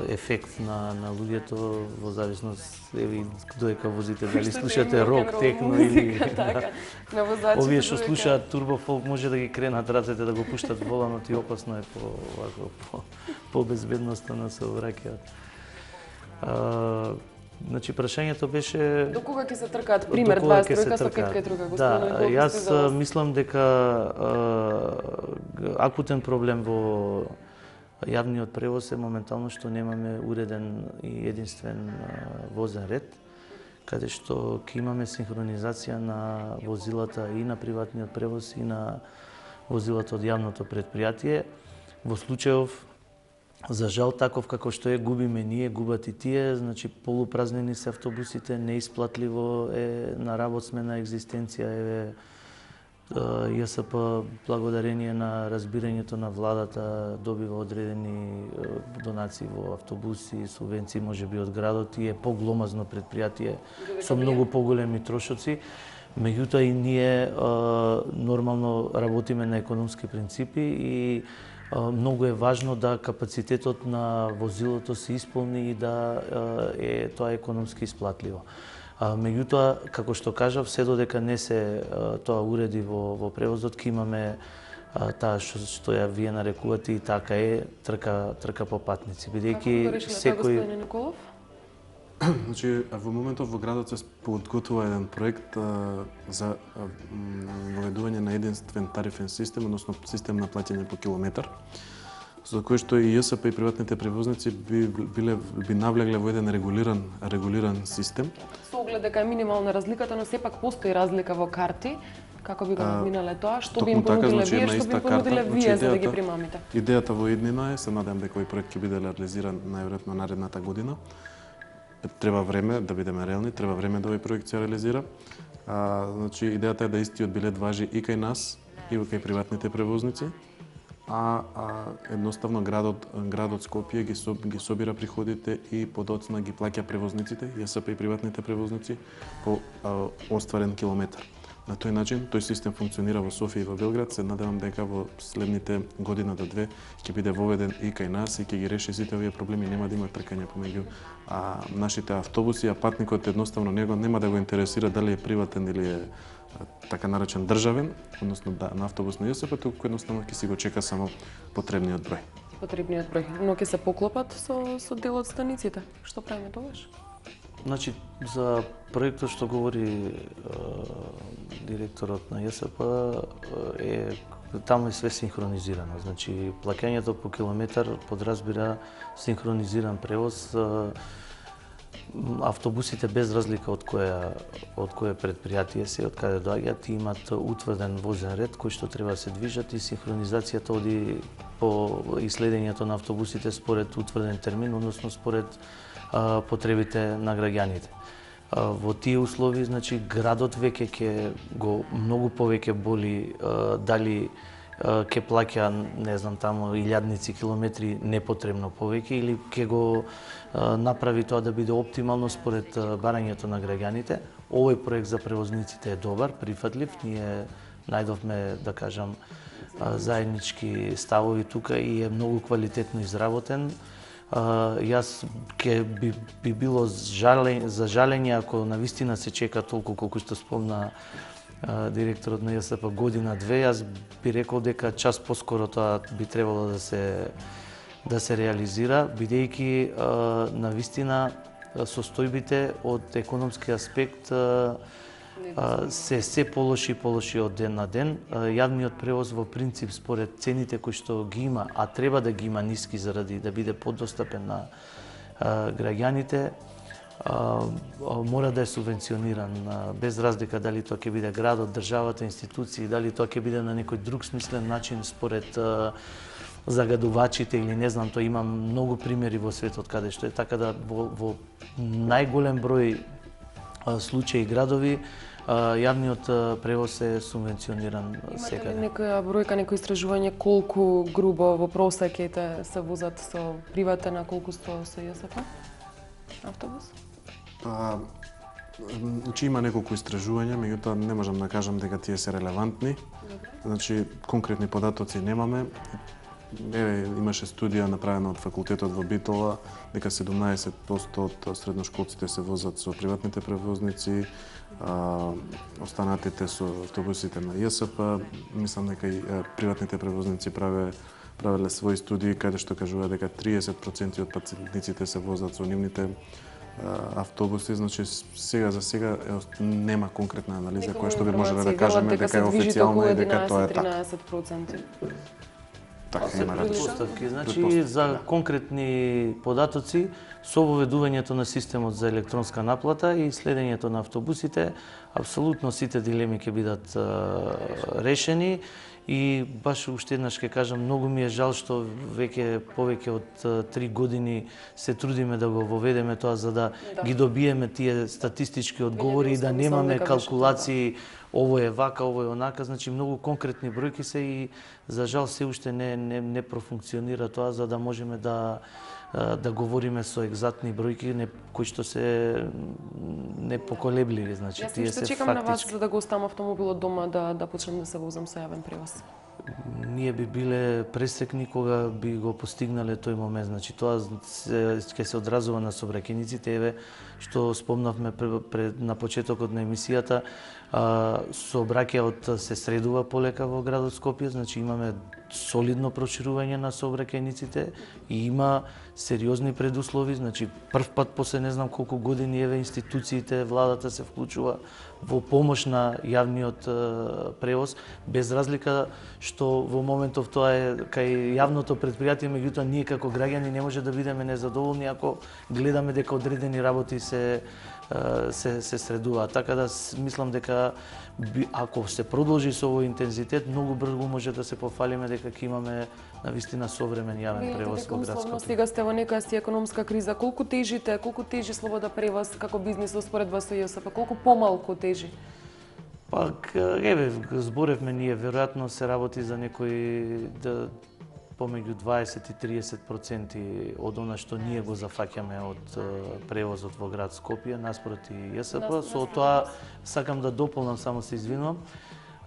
ефект на луѓето во зависност еви додека возите, дали слушате рок, техно или така. На возачите. Овие што слушаат турбофолк може да ги кренат рацете да го пуштат воланот и опасно е по безбедноста сообраќајот. Значи прашањето беше до кога ќе се тркаат? Пример 23 со кетка и друга, господине. Да, јас мислам дека акутен проблем во јавниот превоз е моментално што немаме уреден и единствен возен ред, каде што ќе имаме синхронизација на возилата и на приватниот превоз и на возилата од јавното предпријатие. Во случајов, за жал, таков како што губиме ние, губат и тие, значи полупразнени се автобусите, неисплатливо е на работ сме на екзистенција, еве ЈСП, благодарение на разбирањето на владата, добива одредени донации во автобуси, субвенции можеби од градот и е погломазно предпријатие со многу поголеми трошоци. Меѓутоа и ние нормално работиме на економски принципи и многу е важно да капацитетот на возилото се исполни и да е тоа економски исплатливо. Меѓутоа, како што кажав, се додека не се тоа уреди во превозот, ќе имаме таа што ја вие нарекувате и така е трка по патници, бидејќи секој Значи, во моментов во градот се подготвува еден проект за воведување на единствен тарифен систем, односно систем на плаќање по километар, за кој што и ЈСП и приватните превозници би навлегле во еден регулиран систем. Со оглед дека е минимална разликата, но сепак постои разлика во карти. Како би го надминале тоа? Што би им понудиле вие, што би им понудиле вие за да ги примамите? Идејата во иднина е, се надевам дека овој проект ќе биде реализиран најверојатно наредната година. Треба време да бидеме реални, треба време да овој проект се реализира. Значи, идејата е да истиот билет важи и кај нас, и кај приватните превозници, едноставно градот Скопје ги собира приходите и подоцна ги плаќа превозниците, ЈСП и приватните превозници по остварен километар. На тој начин, тој систем функционира во Софија и во Белград. Се надевам дека во следните година до две ќе биде воведен и кај нас и ќе ги реши сите овие проблеми, нема да има тркање помеѓу нашите автобуси, а патникот едноставно него нема да го интересира дали е приватен или е така наречен државен, односно на автобус на ЈСП, туку едноставно ќе си го чека само потребниот број. Потребниот број, но ќе се поклопат со дел од станиците. Што правиме тогаш? Значи, за проектот што говори директорот на ЈСП таму е све синхронизирано. Значи, плаќањето по километар подразбира синхронизиран превоз. Автобусите без разлика од кое предпријатие се, од каде доаѓаат, имат утврден возен ред кој што треба да се движат и синхронизацијата оди по иследењето на автобусите според утврден термин, односно според потребите на граѓаните. Во тие услови, значи, градот веќе ќе го многу повеќе боли дали ќе плаќа, не знам, таму илјадници километри непотребно повеќе или ќе го направи тоа да биде оптимално според барањето на граѓаните. Овој проект за превозниците е добар, прифатлив. Ние најдовме, да кажам, заеднички ставови тука и е многу квалитетно изработен. Јас би било за жалење ако навистина се чека толку колку што спомна директорот на ЈСП година-две. Јас би рекол дека час поскоро тоа би требало да се реализира, бидејќи навистина состојбите од економски аспект се полоши и полоши од ден на ден. Јавниот превоз во принцип според цените кои што ги има, а треба да ги има ниски заради да биде подостапен на граѓаните, мора да е субвенциониран без разлика дали тоа ќе биде градот, државата, институции, дали тоа ќе биде на некој друг смислен начин според загадувачите или не знам, тоа има многу примери во светот каде што е така да во најголем број случаи градови јавниот превоз е субвенциониран секаде. Имате ли некоја бројка, некој истражување колку грубо во просек се возат со приватен, а колку со ЈСП автобус? Значи има неколку истражувања, меѓутоа не можам да кажам дека тие се релевантни. Значи конкретни податоци немаме. имаше студија направена од факултетот во Битола, дека 17% од средношколците се возат со приватните превозници, останатите со автобусите на ЈСП. Мислам дека и приватните превозници правеле своји студии каде што кажува дека 30% од патниците се возат со нивните автобуси, значи сега за сега нема конкретна анализа која што би можеле да кажеме дека е официјална и дека тоа е така. 13%. Така има предпоставки. Значи за конкретни податоци со воведувањето на системот за електронска наплата и следењето на автобусите, апсолутно сите дилеми ќе бидат решени. И баш уште еднаш ќе кажам, многу ми е жал што веќе повеќе од 3 години се трудиме да го воведеме тоа за да ги добиеме тие статистички одговори и да немаме калкулации ово е вака, ово е онака, значи многу конкретни бројки се и за жал се уште не профункционира тоа за да можеме да говориме со екзактни бројки кои што се непоколебливи, значи тие се фактички. Јас чекам на вас за да го оставам автомобилот дома да почнем да се возам со јавен превоз. Ние би биле пресекни кога би го постигнале тој момент, значи тоа ќе се одразува на сообраќајниците, еве што спомнавме на почетокот на емисијата, сообраќајот се средува полека во градот Скопје, значи имаме солидно проширување на сообраќајниците и има сериозни предуслови, значи прв пат после не знам колку години еве институциите, владата се вклучува во помош на јавниот превоз, без разлика што во моментов тоа е кај јавното претпријатие, меѓутоа ние како граѓани не може да бидеме незадоволни ако гледаме дека одредени работи се средуваат. Така да мислам дека ако се продолжи со овој интензитет, многу брзо може да се пофалиме дека ќе имаме навистина современ јавен превоз во градското. Сега сте во некоја си економска криза. Колку тежи слобода превоз како бизнис во споредба со ЈСП? Колку помалку тежи? Пак, еве, зборевме ние, веројатно се работи за некои помеѓу 20 и 30% од она што ние го зафаќаме од превозот во град Скопје наспроти ЈСП. Со тоа сакам да дополнам, само се извинувам.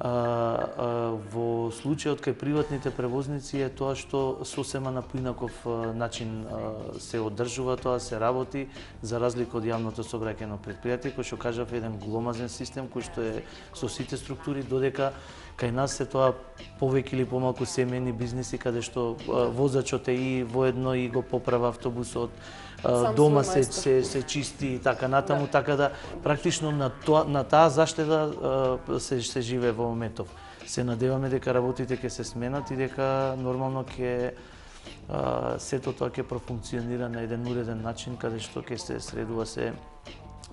Во случајот кај приватните превозници е тоа што сосема на поинаков начин се одржува тоа, се работи, за разлика од јавното сообраќајно претпријатие, кој што кажав еден гломазен систем кој што е со сите структури, додека кај нас се тоа повеќе или помалку семејни бизниси каде што возачот е и воедно и го поправа автобусот, дома се чисти и така натаму, така да практично на таа заштеда се живее во моментов. Се надеваме дека работите ќе се сменат и дека нормално ќе сето тоа ќе профункционира на еден уреден начин каде што ќе се средува се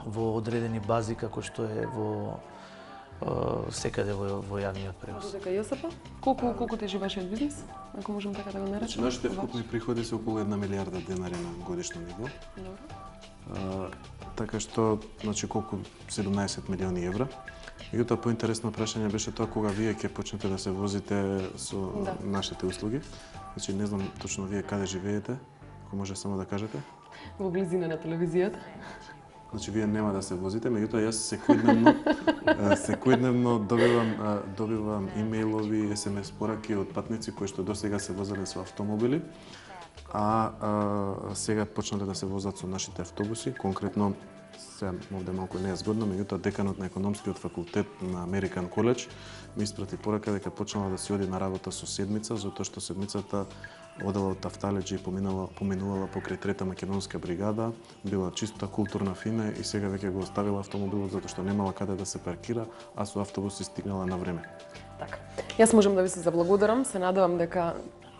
во одредени бази како што е во секаде во јавниот превоз. Дека ЈСП, колку тежи вашиот бизнис, ако можам така да го наречам? Нашите вкупни приходи се околу 1 милијарда денари на годишно ниво. Добро. Така што, значи колку 17 милиони евра. Меѓутоа поинтересно прашање беше тоа кога вие ќе почнете да се возите со нашите услуги. Значи не знам точно вие каде живеете, ако може само да кажете. Во близина на телевизијата. Значи вие нема да се возите, меѓутоа јас секојдневно добивам имејлови, SMS пораки од патници кои што досега се возеле со автомобили, а сега почнале да се возат со нашите автобуси. Конкретно, сега овде малку не е згодно, меѓутоа деканот на економскиот факултет на American College ми испрати порака дека почнала да си оди на работа со седмица, затоа што седмицата одела од Тафталеџи и поминувала покрај 3-та македонска бригада, била чиста, културна, фина и сега веќе го оставила автомобилот затоа што немала каде да се паркира, а со автобус стигнала на време. Така. Јас можам да ви се заблагодарам, се надевам дека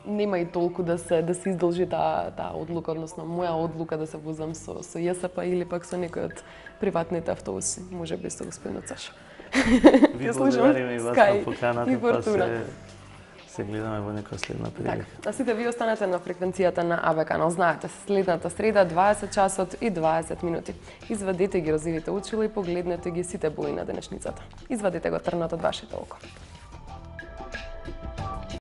нема и толку да се издолжи таа одлука, односно моја одлука да се возам со ЈСП или пак со некој од приватните автобуси, можеби со господинот Саша. Ви благодариме и вас на поканата, па се гледаме во некоја следна прилика. А сите ви останете на фреквенцијата на АБ канал. Знаете, следната среда 20 часот и 20 минути. Извадете ги розивите очила и погледнете ги сите бои на денешницата. Извадете го трнот од вашето око.